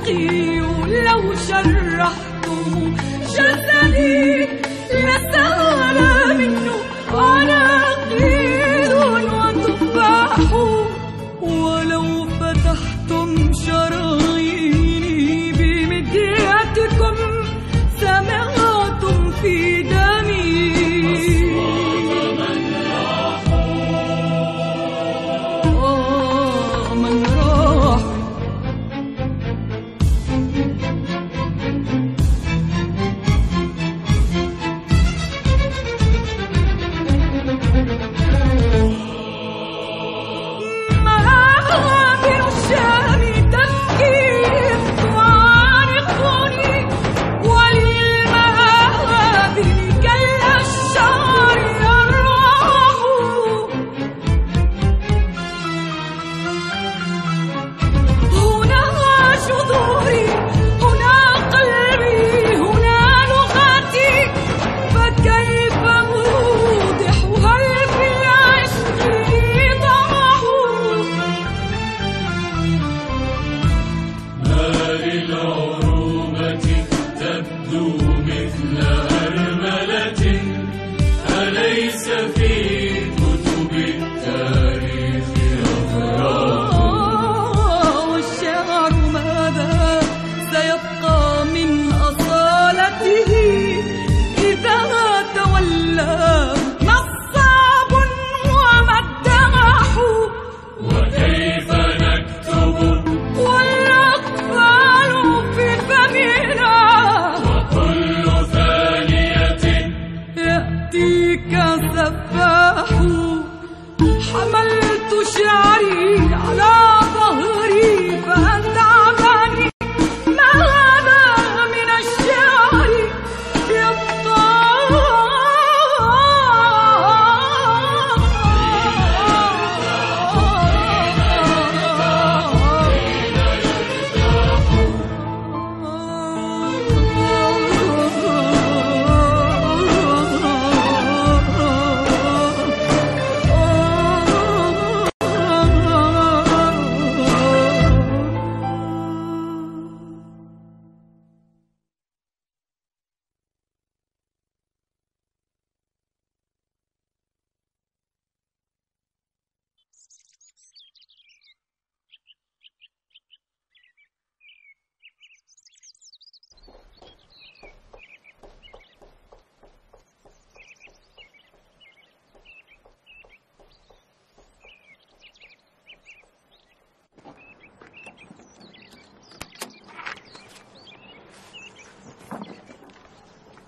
عشقي ولو شرحتم جسدي لسال منه عناقيد وتفاح، ولو فتحتم شراييني بمدياتكم سمعتم في دمي من راح.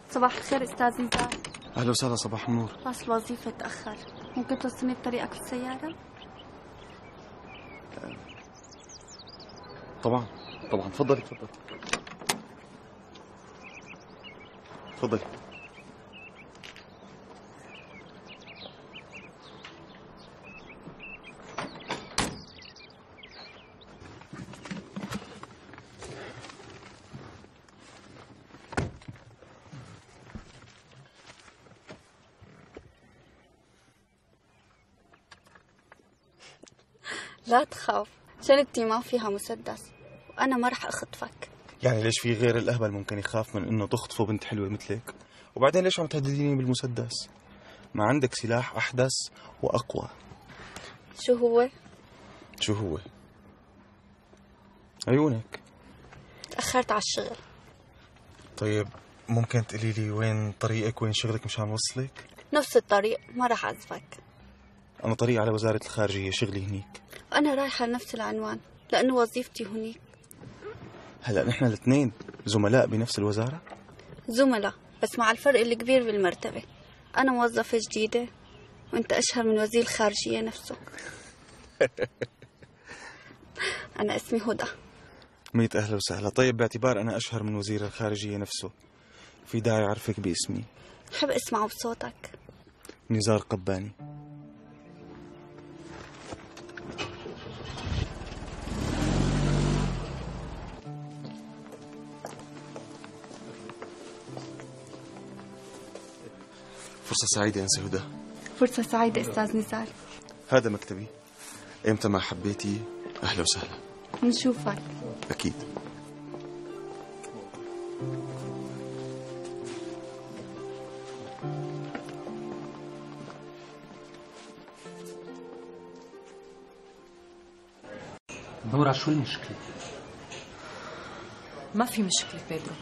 صباح الخير استاذ نزار. اهلا وسهلا. صباح النور. بس الوظيفة تأخر، ممكن توصلني بطريقك في السيارة؟ طبعا طبعا، تفضلي تفضلي تفضلي. لا تخاف، شنطتي ما فيها مسدس وأنا ما رح أخطفك. يعني ليش في غير الأهبل ممكن يخاف من إنه تخطفه بنت حلوة مثلك؟ وبعدين ليش عم تهدديني بالمسدس؟ ما عندك سلاح أحدث وأقوى. شو هو؟ شو هو؟ عيونك. تأخرت على الشغل. طيب ممكن تقولي لي وين طريقك، وين شغلك مشان وصلك؟ نفس الطريق، ما رح أعذبك. أنا طريق على وزارة الخارجية، شغلي هنيك. وأنا رايحة لنفس العنوان لأنه وظيفتي هنيك. هلأ نحن الاثنين زملاء بنفس الوزارة؟ زملاء، بس مع الفرق الكبير بالمرتبة. أنا موظفة جديدة وأنت أشهر من وزير الخارجية نفسه. أنا اسمي هدى. 100 أهلا وسهلا. طيب باعتبار أنا أشهر من وزير الخارجية نفسه، في داعي أعرفك باسمي؟ بحب أسمعه بصوتك. نزار قباني. فرصة سعيدة أنسة هدى. فرصة سعيدة أستاذ نزار. هذا مكتبي، إمتى ما حبيتي أهلا وسهلا. نشوفك. أكيد. نورا، شو المشكلة؟ ما في مشكلة بيدرو.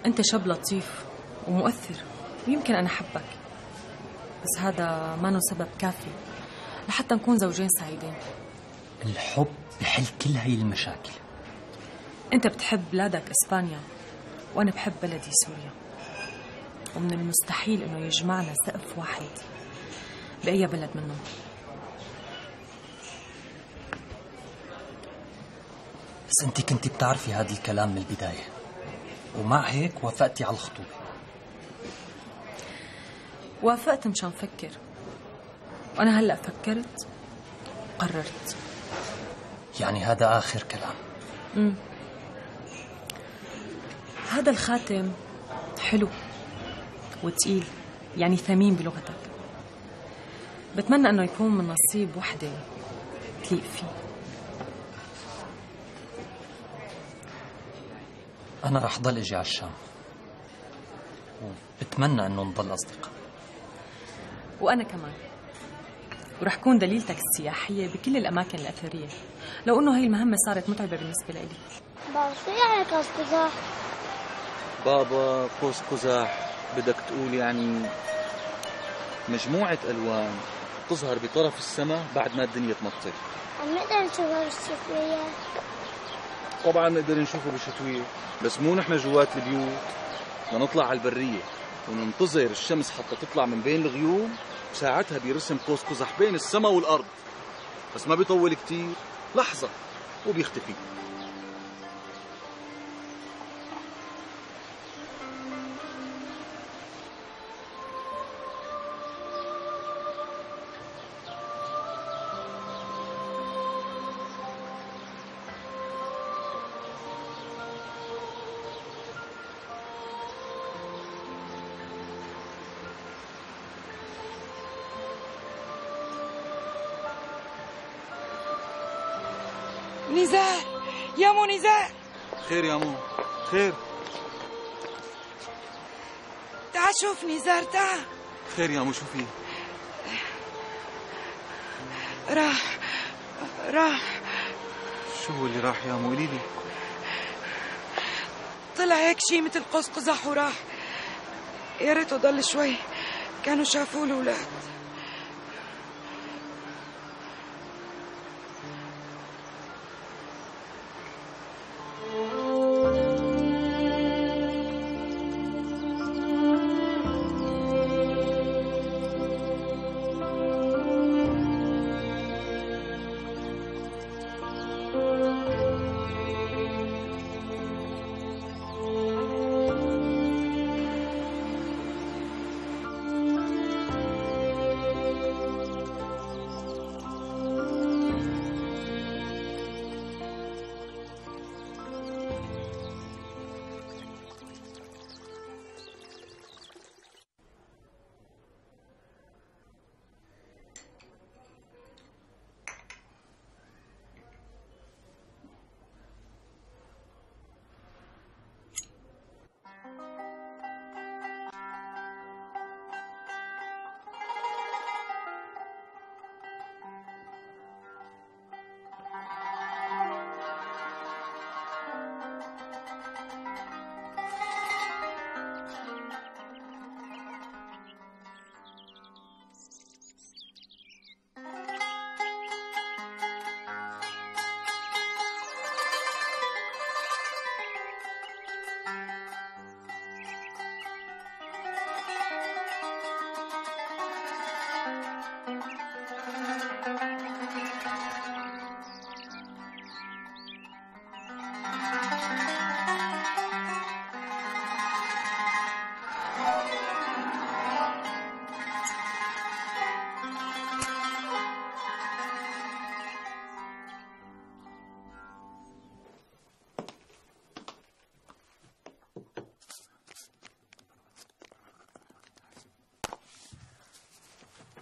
أنت شاب لطيف ومؤثر ويمكن أنا أحبك، بس هذا ما سبب كافي لحتى نكون زوجين سعيدين. الحب بحل كل هاي المشاكل. أنت بتحب بلادك إسبانيا وأنا بحب بلدي سوريا، ومن المستحيل إنه يجمعنا سقف واحد بأي بلد منهم. بس انت كنتي بتعرفي هذا الكلام من البداية، ومع هيك وافقتي على الخطوبة. وافقت مشان فكر، وأنا هلأ فكرت قررت. يعني هذا آخر كلام؟ هذا الخاتم حلو وتقيل، يعني ثمين بلغتك. بتمنى أنه يكون من نصيب وحدة تليق فيه. أنا رح ضل أجي على الشام، وبتمنى أنه نضل أصدقاء. وأنا كمان، ورح كون دليلتك السياحية بكل الأماكن الأثرية، لو أنه هاي المهمة صارت متعبة بالنسبة لي. بابا شو يعني قوس قزح؟ بابا قوس قزح بدك تقول يعني مجموعة ألوان تظهر بطرف السماء بعد ما الدنيا تمطر. عم نقدر نشوفها بالشتوية؟ طبعا نقدر نشوفه بالشتوية، بس مو نحن جوات البيوت، بدنا نطلع على البرية وننتظر الشمس حتى تطلع من بين الغيوم، وساعتها بيرسم قوس قزح بين السماء والأرض، بس ما بيطول كتير، لحظة وبيختفي. نزار، يا مو نزار. خير يا مو، خير. تعال شوف نزار، تعال. خير يا مو، شو في؟ راح. شو هو اللي راح يا مو؟ قولي لي. طلع هيك شي مثل قوس قزح وراح. يا ريته ضل شوي، كانوا شافوه الأولاد.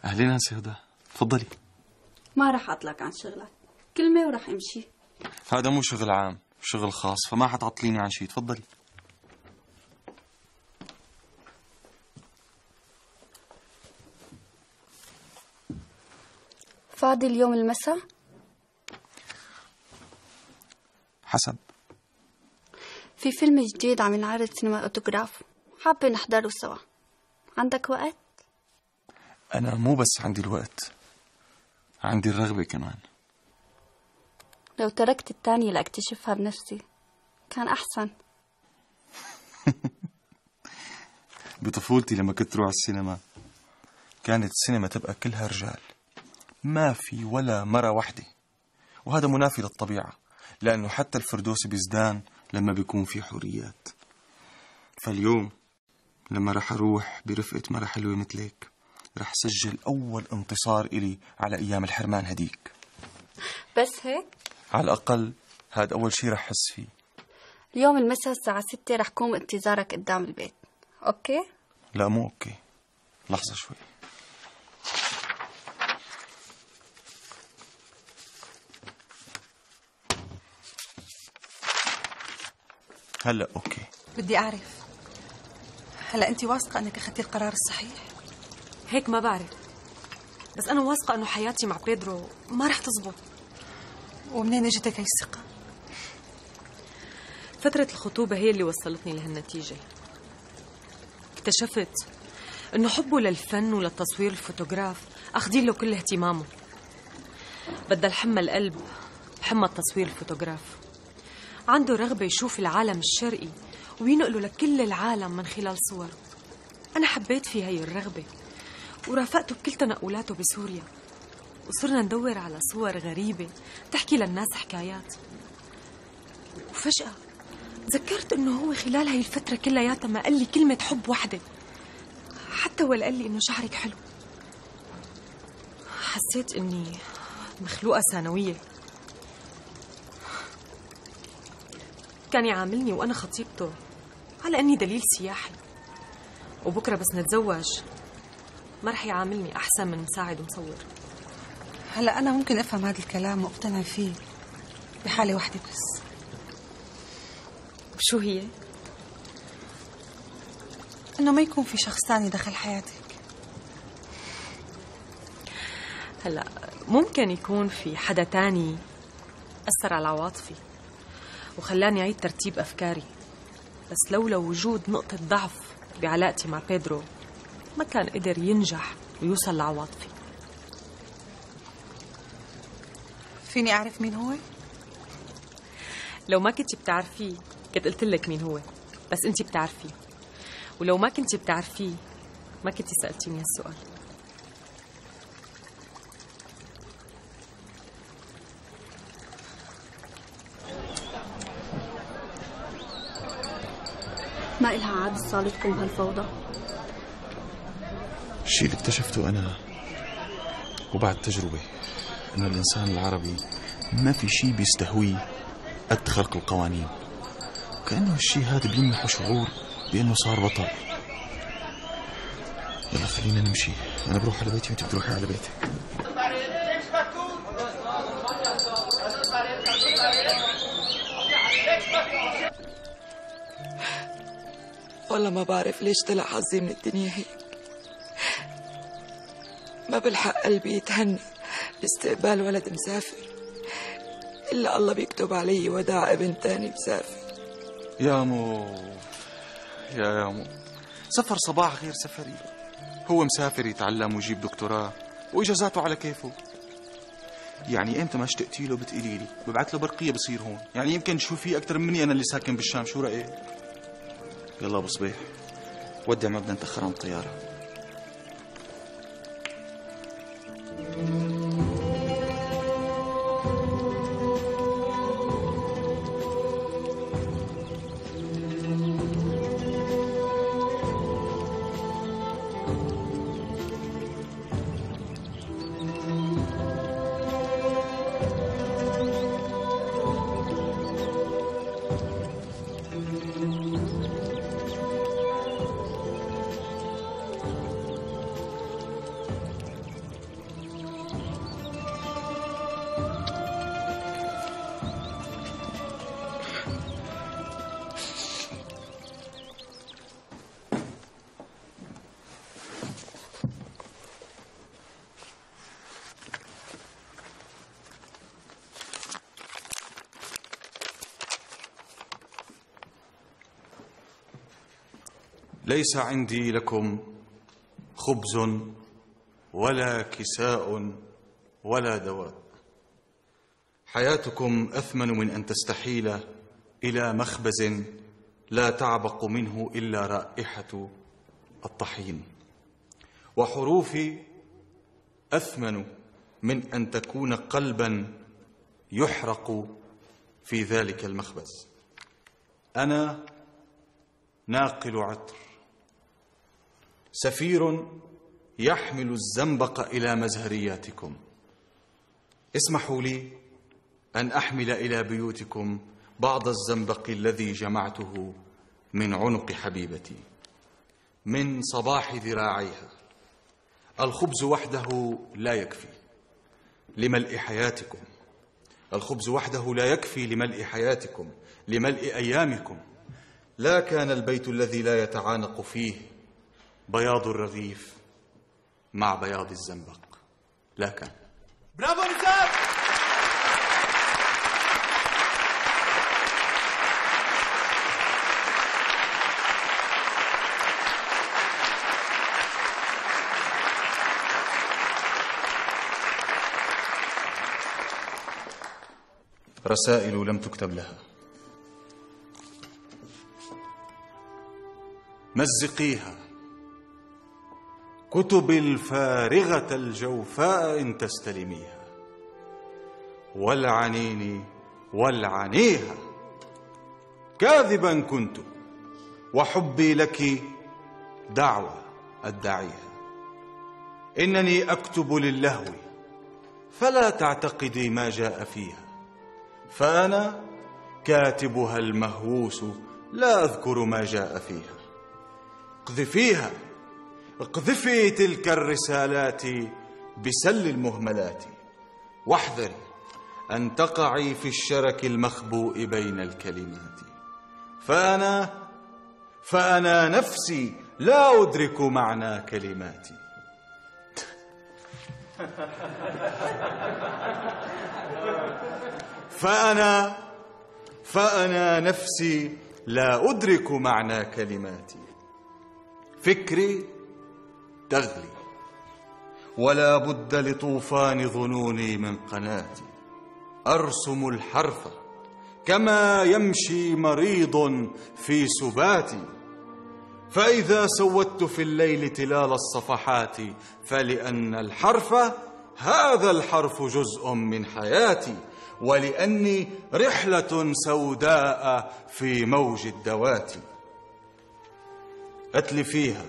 أهلين هانسي هدى، تفضلي. ما رح أطلق عن شغلك، كلمة ورح أمشي. هذا مو شغل عام، شغل خاص، فما حتعطليني عن شيء. تفضلي. فاضي اليوم المساء؟ حسب. في فيلم جديد عم ينعرض سينما أوتوغراف، حابة نحضره سوا. عندك وقت؟ أنا مو بس عندي الوقت، عندي الرغبة كمان. لو تركت التانية لأكتشفها بنفسي كان أحسن. بطفولتي لما كنت روح السينما كانت السينما تبقى كلها رجال، ما في ولا مرة واحدة، وهذا منافي للطبيعة، لأنه حتى الفردوس بيزدان لما بيكون في حريات. فاليوم لما رح أروح برفقة مرة حلوة مثلك رح سجل أول انتصار إلي على أيام الحرمان هديك. بس هيك؟ على الأقل هذا أول شي رح أحس فيه. اليوم المساء الساعة 6 رح قوم انتظارك قدام البيت، أوكي؟ لا مو أوكي، لحظة شوي. هلأ أوكي. بدي أعرف، هلأ أنت واثقة أنك أخذتي القرار الصحيح؟ هيك ما بعرف، بس أنا واثقة أنه حياتي مع بيدرو ما رح تزبط. ومنين اجتك هاي الثقة؟ فترة الخطوبة هي اللي وصلتني لهالنتيجة. اكتشفت أنه حبه للفن وللتصوير الفوتوغراف أخدين له كل اهتمامه. بدل حمى القلب حمى التصوير الفوتوغراف. عنده رغبة يشوف العالم الشرقي وينقله لكل العالم من خلال صور. أنا حبيت في هاي الرغبة ورافقته بكل تنقلاته بسوريا، وصرنا ندور على صور غريبة تحكي للناس حكايات. وفجأة تذكرت إنه هو خلال هاي الفترة كلياتها ما قال لي كلمة حب واحدة، حتى ولا قال لي إنه شعرك حلو. حسيت إني مخلوقة ثانوية. كان يعاملني وأنا خطيبته على أني دليل سياحي، وبكرة بس نتزوج ما رح يعاملني أحسن من مساعد ومصور. هلأ أنا ممكن أفهم هذا الكلام وأقتنع فيه بحالة واحدة بس. شو هي؟ إنه ما يكون في شخص تاني دخل حياتك. هلأ ممكن يكون في حدا تاني أثر على عواطفي وخلاني أعيد ترتيب أفكاري، بس لولا وجود نقطة ضعف بعلاقتي مع بيدرو ما كان قدر ينجح ويوصل لعواطفي. فيني أعرف مين هو؟ لو ما كنتي بتعرفيه كنت قلت لك مين هو، بس أنتي بتعرفيه، ولو ما كنتي بتعرفيه ما كنتي سألتيني هالسؤال. ما إلها عاد صالتكم بهالفوضى. الشيء اللي اكتشفته أنا وبعد تجربة إنه الإنسان العربي ما في شيء بيستهويه قد خلق القوانين، وكأنه الشيء هذا بيمنحه شعور بأنه صار بطل. يلا خلينا نمشي، أنا بروح على بيتي وأنت بتروحي على بيتك. والله ما بعرف ليش طلع حظي من الدنيا هيك. ما بلحق قلبي يتهنى باستقبال ولد مسافر، إلا الله بيكتب علي وداع ابن تاني مسافر. يا مو سفر صباح غير سفري. هو مسافر يتعلم ويجيب دكتوراه وإجازاته على كيفه. يعني امتى ما اشتقتي له بتقولي لي، ببعث له برقية بصير هون. يعني يمكن تشوفيه أكثر مني أنا اللي ساكن بالشام. شو رأيك؟ يلا أبو صبيح ودع، ما بدنا نتأخر عن الطيارة. ليس عندي لكم خبز ولا كساء ولا دواء. حياتكم أثمن من أن تستحيل إلى مخبز لا تعبق منه إلا رائحة الطحين، وحروفي أثمن من أن تكون قلبا يحرق في ذلك المخبز. أنا ناقل عطر، سفير يحمل الزنبق إلى مزهرياتكم. اسمحوا لي أن أحمل إلى بيوتكم بعض الزنبق الذي جمعته من عنق حبيبتي من صباح ذراعيها. الخبز وحده لا يكفي لملء حياتكم، الخبز وحده لا يكفي لملء حياتكم، لملء أيامكم. لا كان البيت الذي لا يتعانق فيه بياض الرغيف مع بياض الزنبق، لا كان. برافو نزار. رسائل لم تكتب لها. مزقيها. كتب الفارغة الجوفاء إن تستلميها. والعنيني والعنيها. كاذبا كنت وحبي لك دعوة أدعيها. إنني أكتب للهو فلا تعتقدي ما جاء فيها، فأنا كاتبها المهووس لا أذكر ما جاء فيها. اقذفيها، اقذفي تلك الرسالات بسل المهملات، واحذري أن تقعي في الشرك المخبوء بين الكلمات. فأنا نفسي لا أدرك معنى كلماتي. فأنا نفسي لا أدرك معنى كلماتي. فكري تغلي ولا بد لطوفان ظنوني من قناتي. أرسم الحرف كما يمشي مريض في سباتي. فإذا سودت في الليل تلال الصفحات فلأن الحرف هذا الحرف جزء من حياتي، ولأني رحلة سوداء في موج الدوات. أتلفيها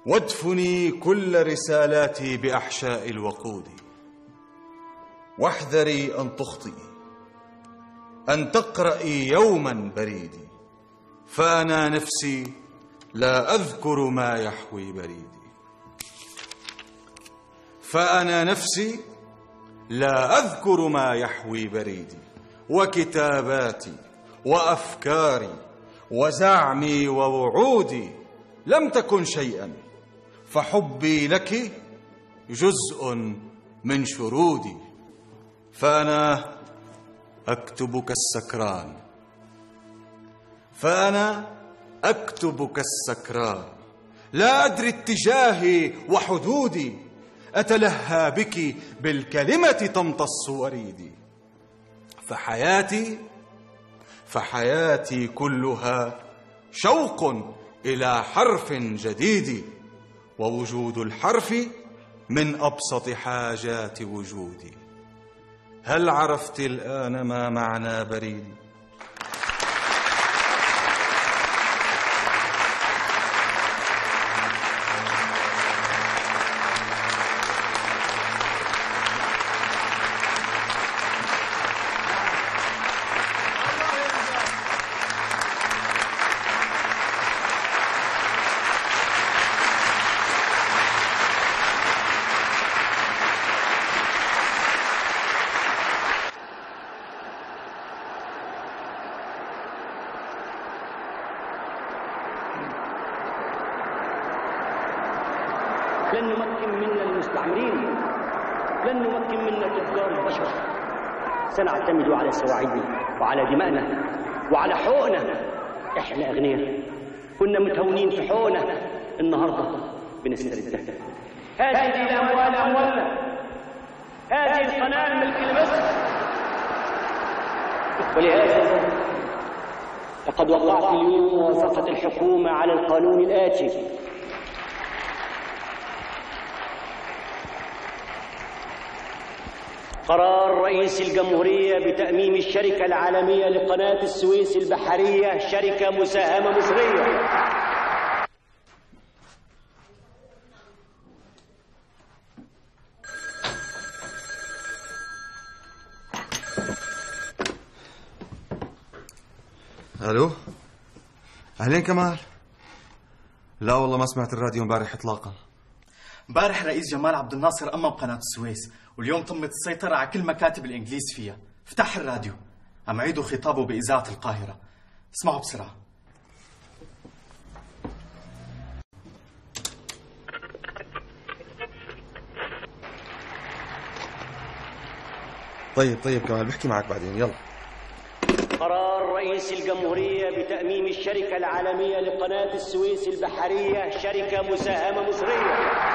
وادفني كل رسالاتي بأحشاء الوقود. واحذري أن تخطئي، أن تقرأي يوما بريدي، فأنا نفسي لا أذكر ما يحوي بريدي. فأنا نفسي لا أذكر ما يحوي بريدي. وكتاباتي وأفكاري وزعمي ووعودي لم تكن شيئا، فحبي لك جزء من شرودي. فأنا أكتب كالسكران، فأنا أكتب كالسكران، لا أدري اتجاهي وحدودي. أتلهى بك بالكلمة تمتص وريدي. فحياتي كلها شوق إلى حرف جديد، ووجود الحرف من أبسط حاجات وجودي. هل عرفت الآن ما معنى بريدي؟ لن نمكن منا المستعمرين، لن نمكن منا تجار البشر. سنعتمد على سواعدنا وعلى دمائنا وعلى حقوقنا. احنا أغنياء كنا متهونين في حونه، النهارده بنستردها. هذه الأموال أموالنا، هذه القناة ملك لمصر. ولهذا لقد وقعت اليوم موافقة الحكومة على القانون الآتي: قرار رئيس الجمهورية بتأميم الشركة العالمية لقناة السويس البحرية شركة مساهمة مصرية. الو، اهلين كمال. لا والله ما سمعت الراديو امبارح اطلاقا. امبارح رئيس جمال عبد الناصر أمم قناة السويس، واليوم تمت السيطرة على كل مكاتب الإنجليز فيها. افتح الراديو، عم عيدوا خطابه بإذاعة القاهرة. اسمعوا بسرعة. طيب كمال بحكي معك بعدين، يلا. قرار رئيس الجمهورية بتأميم الشركة العالمية لقناة السويس البحرية شركة مساهمة مصرية.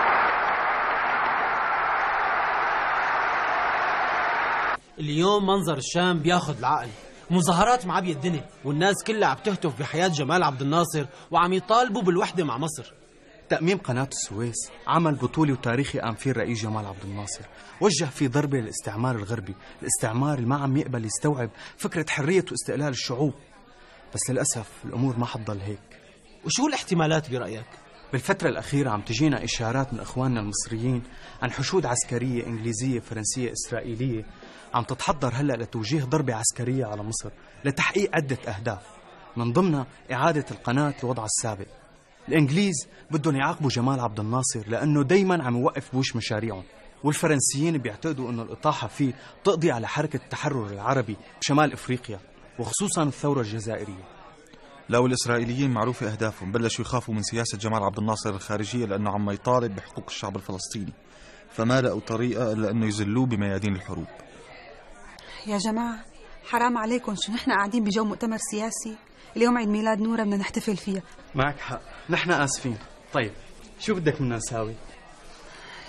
اليوم منظر الشام بياخد العقل، مظاهرات معبية الدنيا، والناس كلها عم تهتف بحياة جمال عبد الناصر وعم يطالبوا بالوحدة مع مصر. تأميم قناة السويس عمل بطولي وتاريخي قام فيه الرئيس جمال عبد الناصر، وجه فيه ضربة للاستعمار الغربي، الاستعمار اللي ما عم يقبل يستوعب فكرة حرية واستقلال الشعوب. بس للأسف الأمور ما حتضل هيك. وشو الاحتمالات برأيك؟ بالفترة الأخيرة عم تجينا إشارات من إخواننا المصريين عن حشود عسكرية إنجليزية فرنسية إسرائيلية عم تتحضر هلأ لتوجيه ضربة عسكرية على مصر لتحقيق عدة أهداف، من ضمنها إعادة القناة لوضعها السابق. الإنجليز بدهم يعاقبوا جمال عبد الناصر لأنه دايما عم يوقف بوش مشاريعهم، والفرنسيين بيعتقدوا أنه الإطاحة فيه تقضي على حركة التحرر العربي بشمال إفريقيا وخصوصا الثورة الجزائرية. لو الإسرائيليين معروفة أهدافهم، بلشوا يخافوا من سياسة جمال عبد الناصر الخارجية لأنه عم يطالب بحقوق الشعب الفلسطيني، فما لقوا طريقة إلا أنه يزلوه بميادين الحروب. يا جماعة حرام عليكم، شو نحن قاعدين بجو مؤتمر سياسي؟ اليوم عيد ميلاد نورة بدنا نحتفل فيها. معك حق، نحن آسفين. طيب شو بدك منا نساوي؟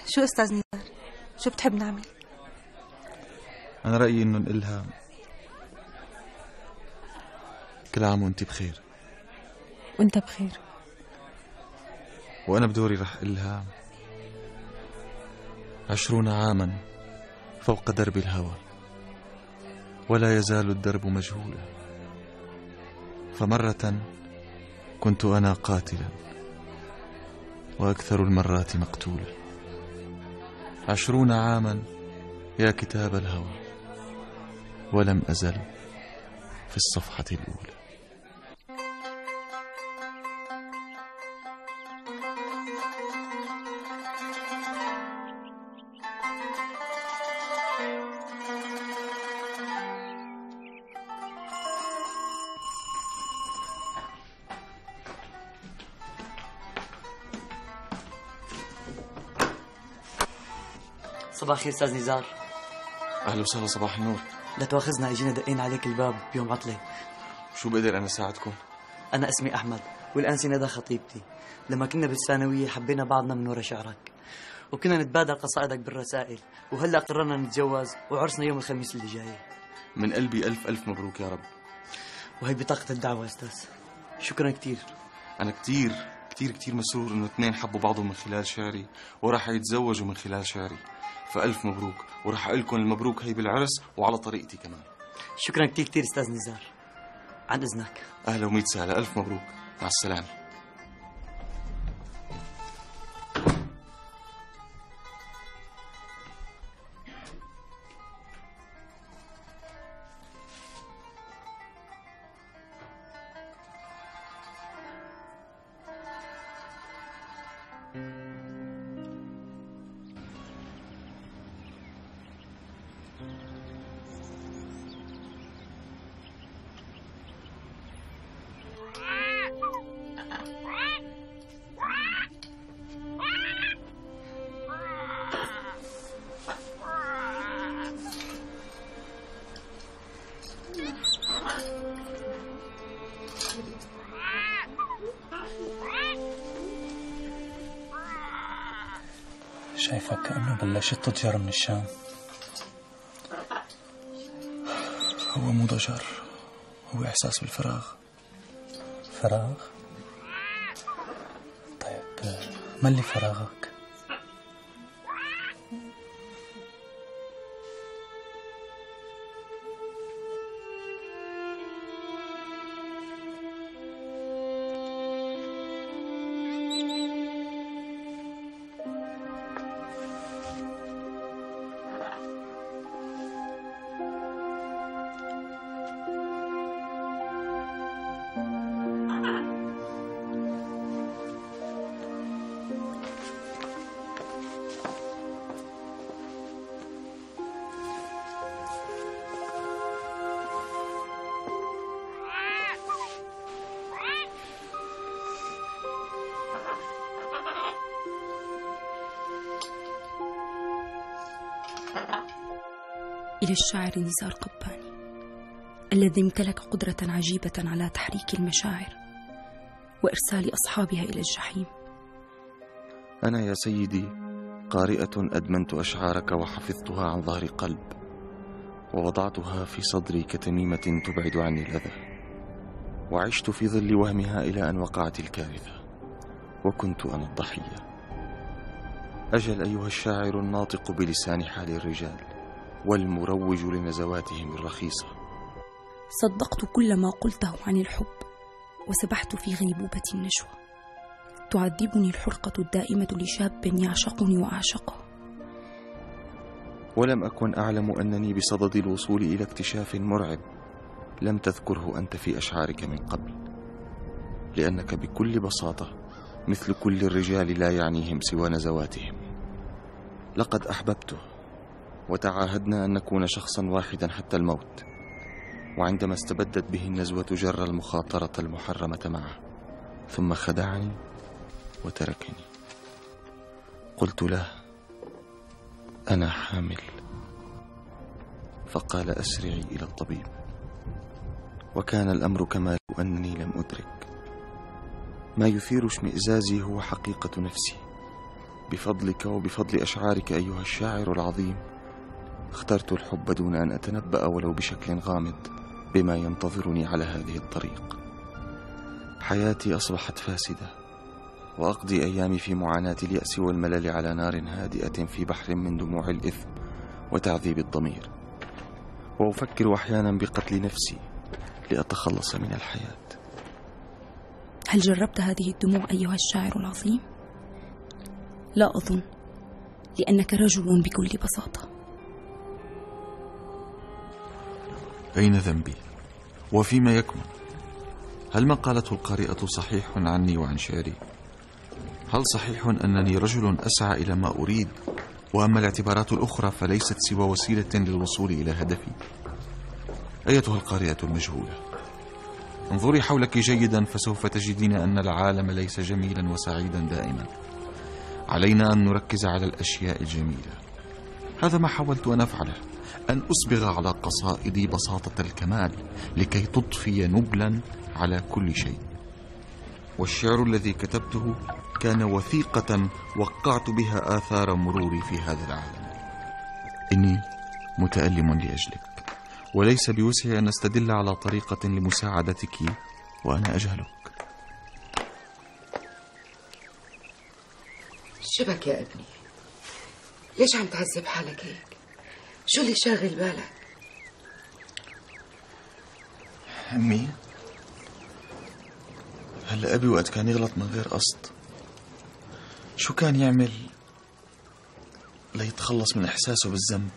شو أستاذ نزار؟ شو بتحب نعمل؟ أنا رأيي إنه نقلها كل عام وأنت بخير. وأنت بخير. وأنا بدوري رح أقلها 20 عاما فوق درب الهوى، ولا يزال الدرب مجهولا، فمرة كنت أنا قاتلا وأكثر المرات مقتولا. 20 عاما يا كتاب الهوى، ولم أزل في الصفحة الأولى. صباح الخير استاذ نزار. أهلا وسهلا، صباح النور. لا تواخذنا، اجينا دقين عليك الباب بيوم عطلة. شو بقدر أنا ساعدكم؟ أنا اسمي أحمد، والأنسة ندى خطيبتي. لما كنا بالثانوية حبينا بعضنا من ورا شعرك، وكنا نتبادل قصائدك بالرسائل، وهلا قررنا نتجوز وعرسنا يوم الخميس اللي جاي. من قلبي ألف ألف مبروك يا رب. وهي بطاقة الدعوة أستاذ. شكرا كتير. أنا كتير كتير كتير مسرور إنه اثنين حبوا بعضهم من خلال شعري وراح يتزوجوا من خلال شعري، فألف مبروك، وراح أقول لكم المبروك هي بالعرس وعلى طريقتي كمان. شكرا كتير كتير أستاذ نزار، عن إذنك. أهلا وميت سهلا، ألف مبروك، مع السلامة. شايفك كأنه بلشت تضجر من الشام. هو مو ضجر، هو إحساس بالفراغ. فراغ؟ طيب ما اللي فراغك؟ إلى الشاعر نزار قباني الذي امتلك قدرة عجيبة على تحريك المشاعر وإرسال أصحابها إلى الجحيم. أنا يا سيدي قارئة أدمنت أشعارك وحفظتها عن ظهر قلب، ووضعتها في صدري كتميمة تبعد عني الأذى، وعشت في ظل وهمها إلى أن وقعت الكارثة وكنت أنا الضحية. أجل أيها الشاعر الناطق بلسان حال الرجال والمروج لنزواتهم الرخيصة. صدقت كل ما قلته عن الحب وسبحت في غيبوبة النشوة. تعذبني الحرقة الدائمة لشاب يعشقني وأعشقه. ولم أكن أعلم أنني بصدد الوصول إلى اكتشاف مرعب لم تذكره أنت في أشعارك من قبل، لأنك بكل بساطة مثل كل الرجال لا يعنيهم سوى نزواتهم. لقد أحببته وتعاهدنا أن نكون شخصا واحدا حتى الموت، وعندما استبدت به النزوة جر المخاطرة المحرمة معه، ثم خدعني وتركني. قلت له أنا حامل، فقال أسرعي إلى الطبيب، وكان الأمر كما لو أنني لم أدرك. ما يثير اشمئزازي هو حقيقة نفسي. بفضلك وبفضل أشعارك أيها الشاعر العظيم اخترت الحب دون أن أتنبأ ولو بشكل غامض بما ينتظرني على هذه الطريق. حياتي أصبحت فاسدة، وأقضي أيامي في معاناة اليأس والملل على نار هادئة في بحر من دموع الإثم وتعذيب الضمير، وأفكر أحيانا بقتل نفسي لأتخلص من الحياة. هل جربت هذه الدموع أيها الشاعر العظيم؟ لا أظن، لأنك رجل بكل بساطة. أين ذنبي؟ وفيما يكمن؟ هل ما قالته القارئة صحيح عني وعن شعري؟ هل صحيح أنني رجل أسعى إلى ما أريد، وأما الاعتبارات الأخرى فليست سوى وسيلة للوصول إلى هدفي؟ أيتها القارئة المجهولة، انظري حولك جيدا فسوف تجدين أن العالم ليس جميلا وسعيدا دائما. علينا أن نركز على الأشياء الجميلة. هذا ما حاولت أن أفعله، أن أصبغ على قصائدي بساطة الكمال لكي تضفي نبلا على كل شيء. والشعر الذي كتبته كان وثيقة وقعت بها آثار مروري في هذا العالم. إني متألم لأجلك، وليس بوسعي أن أستدل على طريقة لمساعدتك وأنا أجهلك. شبك يا ابني؟ ليش عم تعذب حالك هيك؟ شو اللي شاغل بالك؟ أمي، هلا أبي وقت كان يغلط من غير قصد شو كان يعمل ليتخلص من إحساسه بالذنب؟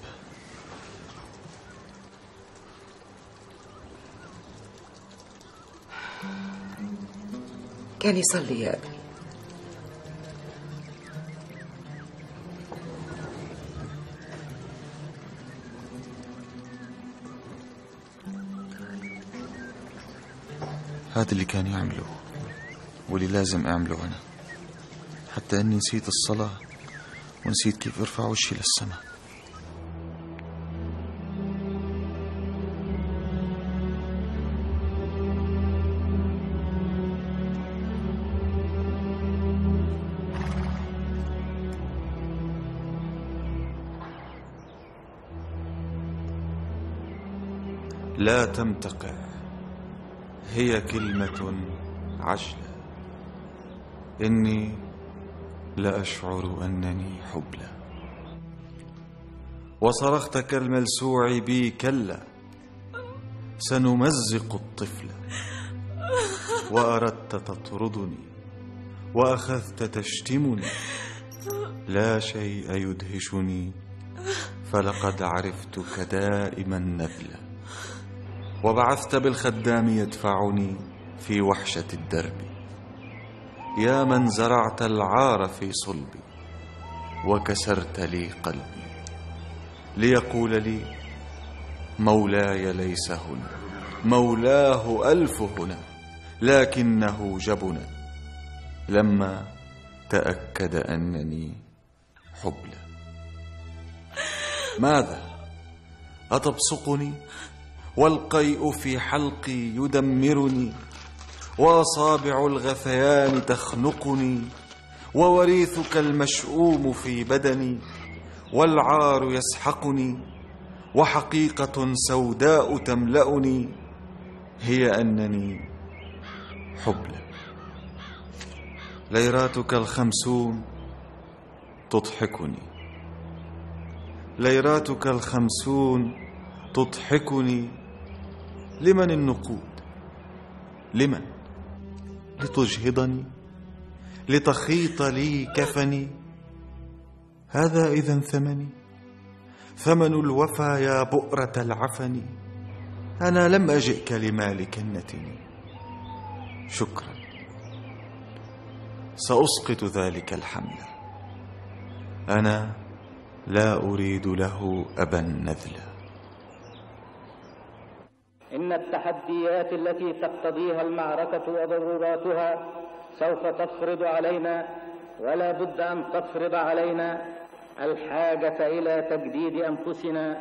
كان يصلي يا ابني. هذا اللي كان يعمله واللي لازم أعمله أنا، حتى أني نسيت الصلاة ونسيت كيف أرفع وشي للسماء. لا تمتقع، هي كلمة عجلة، إني لأشعر أنني حبلى. وصرخت كالملسوع بي كلا، سنمزق الطفل. وأردت تطردني وأخذت تشتمني، لا شيء يدهشني، فلقد عرفتك دائما نذلا. وبعثت بالخدام يدفعني في وحشة الدرب، يا من زرعت العار في صلبي وكسرت لي قلبي، ليقول لي مولاي ليس هنا، مولاه ألف هنا، لكنه جبنا لما تأكد أنني حبلى. ماذا؟ أتبصقني والقيء في حلقي يدمرني، وأصابع الغثيان تخنقني، ووريثك المشؤوم في بدني، والعار يسحقني، وحقيقة سوداء تملأني، هي أنني حبلى. ليراتك 50 تضحكني، ليراتك 50 تضحكني. لمن النقود؟ لمن؟ لتجهضني، لتخيط لي كفني. هذا إذن ثمني، ثمن الوفا يا بؤرة العفن. أنا لم أجئك لمال كنتني، شكرا، سأسقط ذلك الحمل. أنا لا أريد له أبا نذلا. إن التحديات التي تقتضيها المعركة وضروراتها سوف تفرض علينا، ولا بد أن تفرض علينا الحاجة إلى تجديد أنفسنا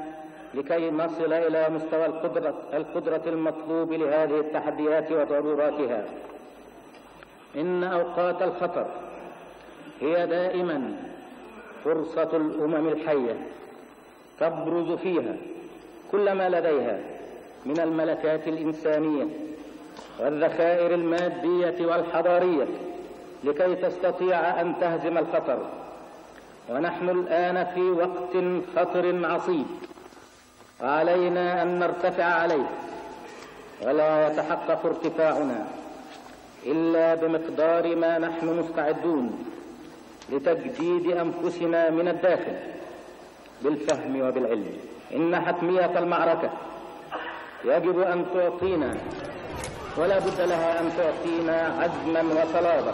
لكي نصل إلى مستوى القدرة المطلوب لهذه التحديات وضروراتها. إن أوقات الخطر هي دائما فرصة الأمم الحية تبرز فيها كل ما لديها من الملكات الإنسانية والذخائر المادية والحضارية لكي تستطيع أن تهزم الخطر. ونحن الآن في وقت خطر عصيب، وعلينا أن نرتفع عليه، ولا يتحقق ارتفاعنا إلا بمقدار ما نحن مستعدون لتجديد أنفسنا من الداخل بالفهم وبالعلم. إن حتمية المعركة يجب أن تعطينا، ولا بد لها أن تعطينا عزما وصلابة.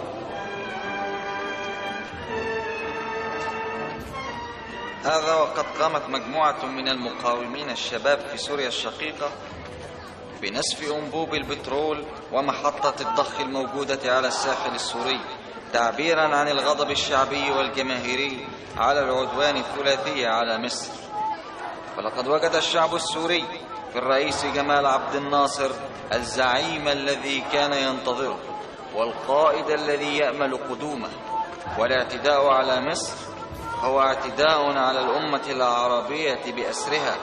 هذا وقد قامت مجموعة من المقاومين الشباب في سوريا الشقيقة بنسف أنبوب البترول ومحطة الضخ الموجودة على الساحل السوري، تعبيرا عن الغضب الشعبي والجماهيري على العدوان الثلاثي على مصر. فلقد وجد الشعب السوري في الرئيس جمال عبد الناصر الزعيم الذي كان ينتظره والقائد الذي يأمل قدومه. والاعتداء على مصر هو اعتداء على الأمة العربية بأسرها.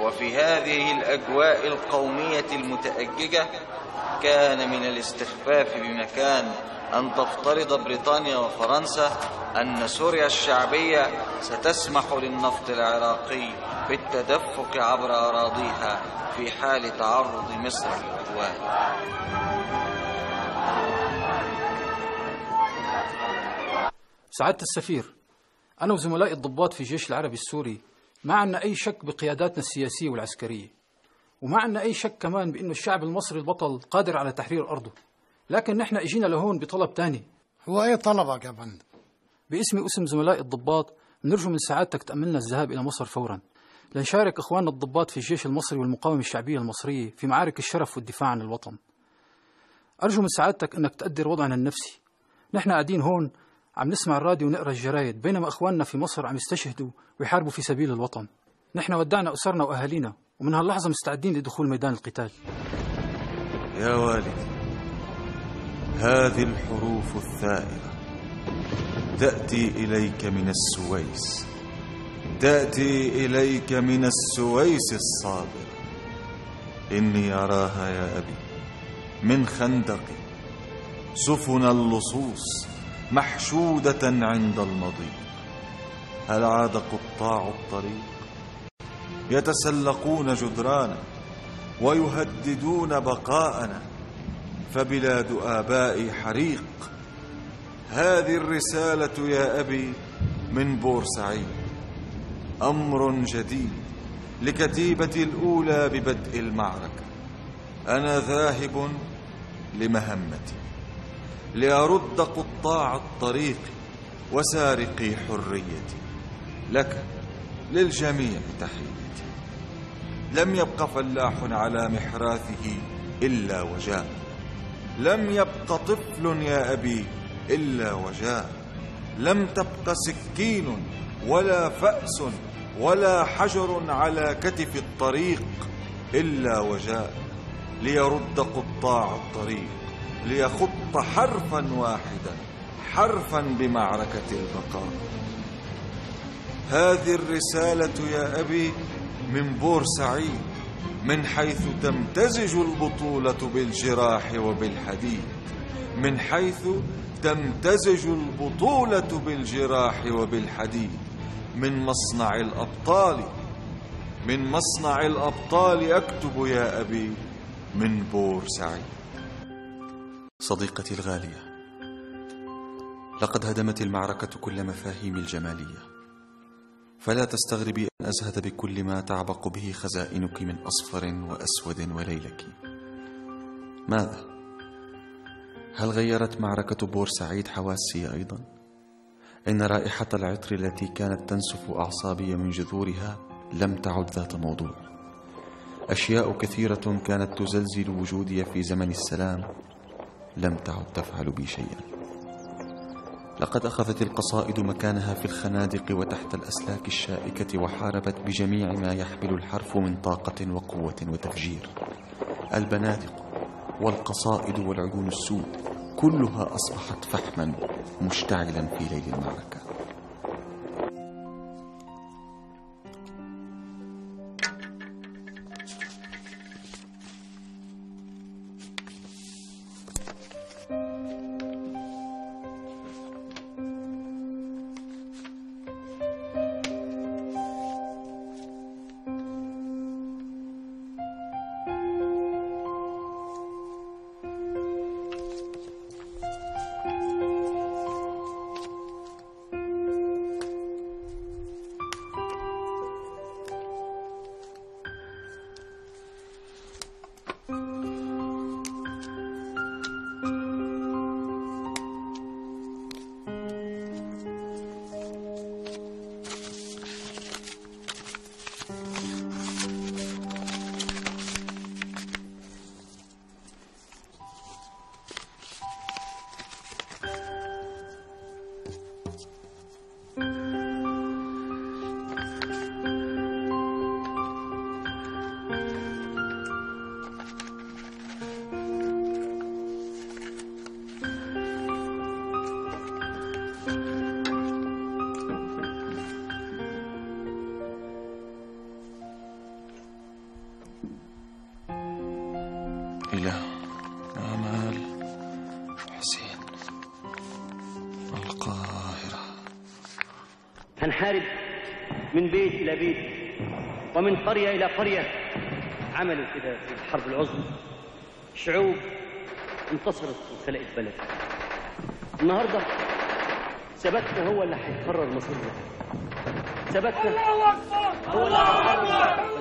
وفي هذه الأجواء القومية المتأججة كان من الاستخفاف بمكان أن تفترض بريطانيا وفرنسا أن سوريا الشعبية ستسمح للنفط العراقي بالتدفق عبر أراضيها في حال تعرض مصر للعدوان. سعادة السفير، أنا وزملائي الضباط في الجيش العربي السوري ما عندنا أي شك بقياداتنا السياسية والعسكرية، وما عندنا أي شك كمان بأنه الشعب المصري البطل قادر على تحرير أرضه. لكن نحن اجينا لهون بطلب تاني. هو أي طلبك يا فندم؟ باسمي واسم زملائي الضباط نرجو من سعادتك تأملنا الذهاب إلى مصر فورا لنشارك إخواننا الضباط في الجيش المصري والمقاومة الشعبية المصرية في معارك الشرف والدفاع عن الوطن. أرجو من سعادتك أنك تقدر وضعنا النفسي. نحن قاعدين هون عم نسمع الراديو ونقرأ الجرايد، بينما إخواننا في مصر عم يستشهدوا ويحاربوا في سبيل الوطن. نحن ودعنا أسرنا وأهالينا، ومن هاللحظة مستعدين لدخول ميدان القتال. يا والدي، هذه الحروف الثائرة تأتي إليك من السويس، تأتي إليك من السويس الصابرة. إني أراها يا أبي من خندق سفن اللصوص محشودة عند المضيق. هل عاد قطاع الطريق يتسلقون جدرانا ويهددون بقاءنا؟ فبلاد آبائي حريق. هذه الرسالة يا أبي من بورسعيد، أمر جديد لكتيبتي الأولى ببدء المعركة. أنا ذاهب لمهمتي لأرد قطاع الطريق وسارقي حريتي. لك للجميع تحيتي. لم يبق فلاح على محراثه إلا وجاء. لم يبق طفل يا أبي إلا وجاء. لم تبق سكين ولا فأس ولا حجر على كتف الطريق إلا وجاء ليرد قطاع الطريق، ليخط حرفا واحدا، حرفا بمعركة البقاء. هذه الرسالة يا أبي من بورسعيد، من حيث تمتزج البطولة بالجراح وبالحديد، من حيث تمتزج البطولة بالجراح وبالحديد، من مصنع الأبطال، من مصنع الأبطال أكتب يا أبي من بورسعيد. صديقتي الغالية، لقد هدمت المعركة كل مفاهيم الجمالية، فلا تستغربي أن أزهد بكل ما تعبق به خزائنك من أصفر وأسود وليلك. ماذا؟ هل غيرت معركة بورسعيد حواسي أيضا؟ إن رائحة العطر التي كانت تنسف أعصابي من جذورها لم تعد ذات موضوع. أشياء كثيرة كانت تزلزل وجودي في زمن السلام لم تعد تفعل بي شيئا. لقد أخذت القصائد مكانها في الخنادق وتحت الأسلاك الشائكة، وحاربت بجميع ما يحمل الحرف من طاقة وقوة وتفجير. البنادق والقصائد والعيون السود كلها أصبحت فحما مشتعلا في ليل المعركة. إلى آمال حسين القاهرة. هنحارب من بيت إلى بيت ومن قرية إلى قرية. عملوا كده في الحرب العظمى، شعوب انتصرت وخلقت بلد. النهارده ثباتنا هو اللي هيقرر مصيرنا. ثباتنا هو اللي هيقرر.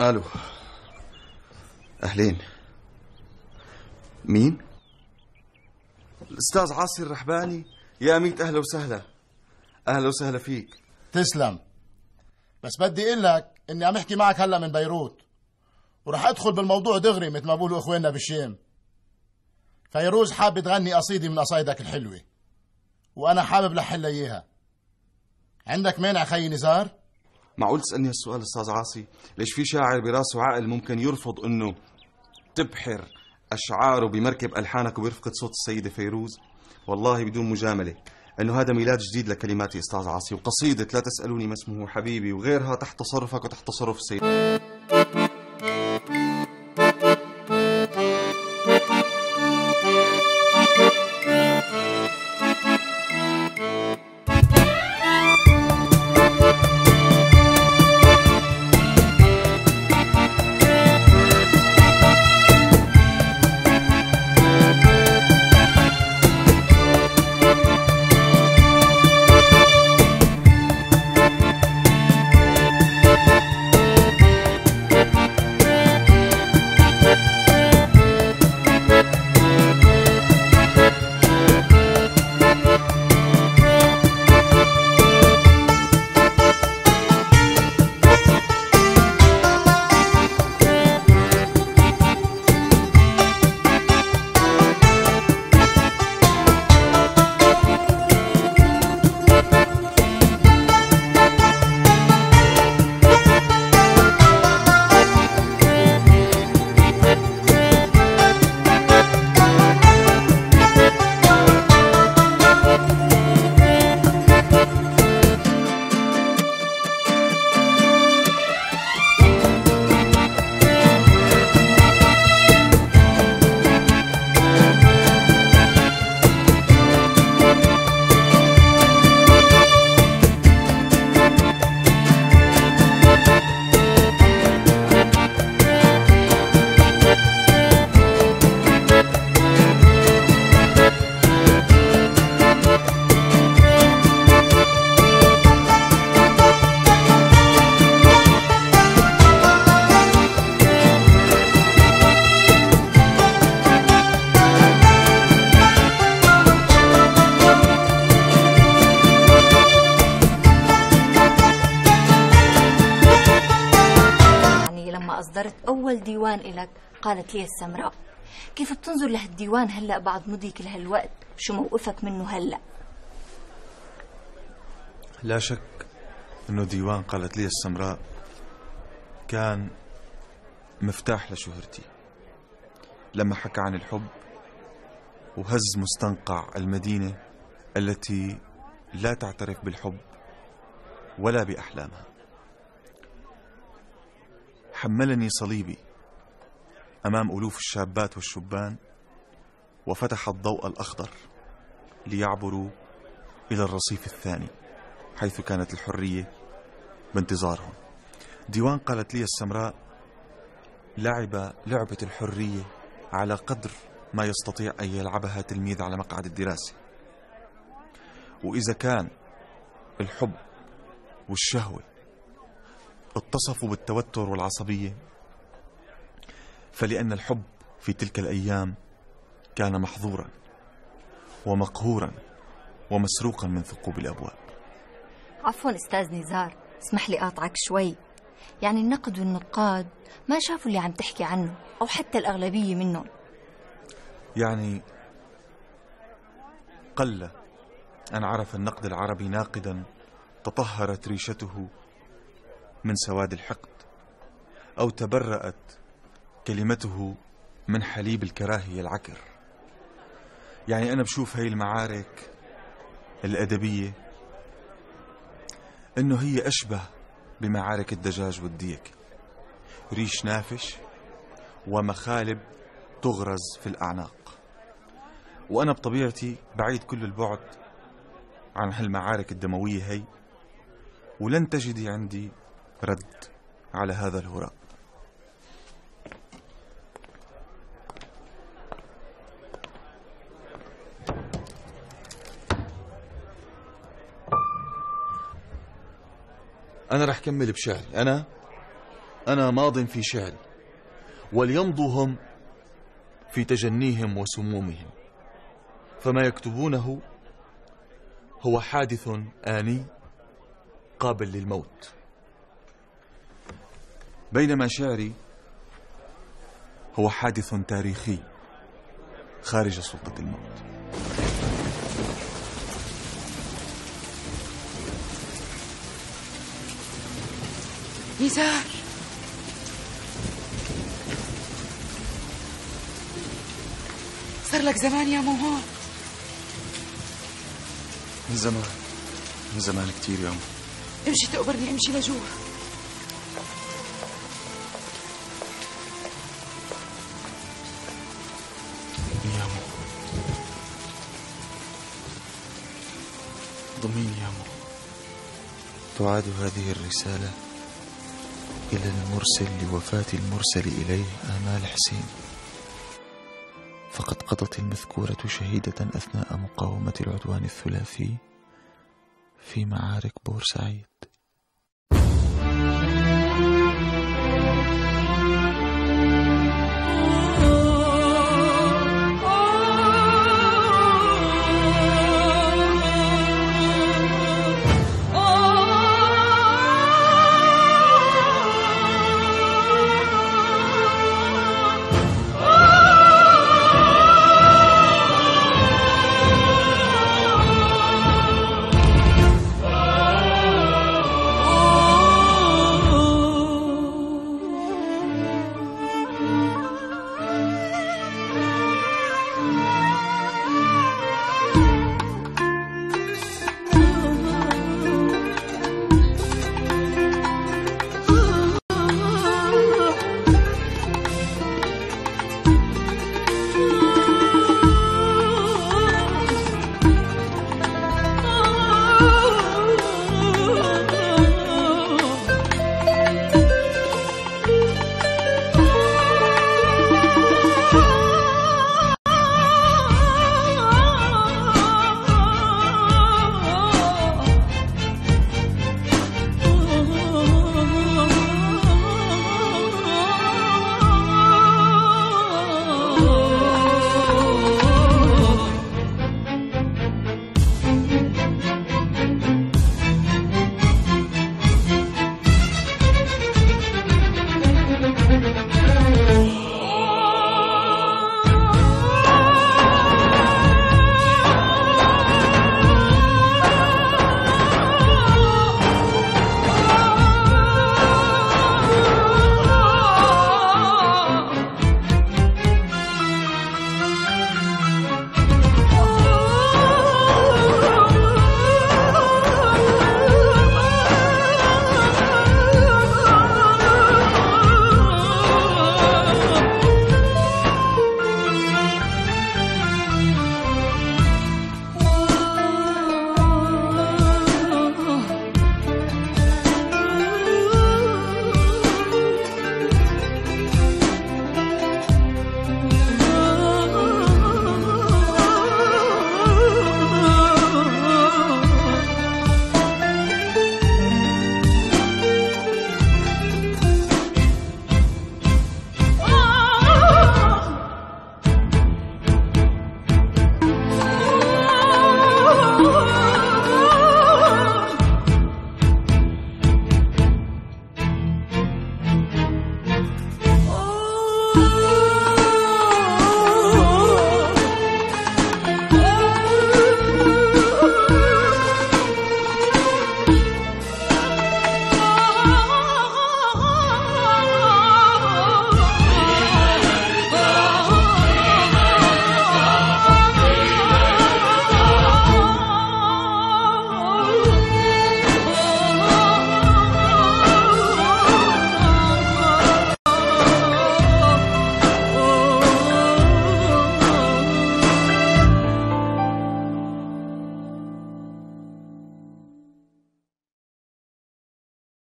ألو، أهلين. مين؟ الأستاذ عاصي الرحباني. يا ميت أهلا وسهلا. أهلا وسهلا فيك. تسلم. بس بدي اقول لك اني عم احكي معك هلا من بيروت، ورح ادخل بالموضوع دغري مثل ما بقولوا اخواننا بالشام. فيروز حابة تغني قصيدة من قصايدك الحلوة، وانا حابب لحلها اياها. عندك مانع خي نزار؟ معقول تسألني هالسؤال أستاذ عاصي؟ ليش في شاعر براسه عقل ممكن يرفض إنه تبحر أشعاره بمركب ألحانك وبرفقة صوت السيدة فيروز، والله بدون مجاملة أنه هذا ميلاد جديد لكلماتي أستاذ عاصي، وقصيدة لا تسألوني ما اسمه حبيبي وغيرها تحت تصرفك وتحت تصرف السيدة. أصدرت أول ديوان إلك قالت لي السمراء، كيف بتنظر لهالديوان هلأ بعد مضي كل هالوقت؟ شو موقفك منه هلأ؟ لا شك أنه ديوان قالت لي السمراء كان مفتاح لشهرتي، لما حكى عن الحب وهز مستنقع المدينة التي لا تعترف بالحب ولا بأحلامها. حملني صليبي أمام ألوف الشابات والشبان وفتح الضوء الأخضر ليعبروا إلى الرصيف الثاني حيث كانت الحرية بانتظارهم. ديوان قالت لي السمراء لعب لعبة الحرية على قدر ما يستطيع أن يلعبها تلميذ على مقعد الدراسة، وإذا كان الحب والشهوة اتصفوا بالتوتر والعصبية فلأن الحب في تلك الأيام كان محظورا ومقهورا ومسروقا من ثقوب الأبواب. عفوا أستاذ نزار، اسمح لي أقاطعك شوي. يعني النقد والنقاد ما شافوا اللي عم تحكي عنه، أو حتى الأغلبية منهم. يعني قل أن عرف النقد العربي ناقدا تطهرت ريشته من سواد الحقد، أو تبرأت كلمته من حليب الكراهية العكر. يعني أنا بشوف هاي المعارك الأدبية إنه هي أشبه بمعارك الدجاج والديك، ريش نافش ومخالب تغرز في الأعناق. وأنا بطبيعتي بعيد كل البعد عن هالمعارك الدموية هي، ولن تجدي عندي رد على هذا الهراء. أنا رح كمل بشعري. أنا ماض في شعري، وليمضوا هم في تجنيهم وسمومهم، فما يكتبونه هو حادث آني قابل للموت، بينما شعري هو حادث تاريخي خارج سلطة الموت. نزار، صار لك زمان يا مو هون؟ من زمان، من زمان كتير يا أم. امشي تقبرني، امشي لجوا. يا أمو، ضميني يا أمو. تعاد هذه الرسالة إلى المرسل لوفاة المرسل إليه آمال حسين، فقد قضت المذكورة شهيدة أثناء مقاومة العدوان الثلاثي في معارك بورسعيد.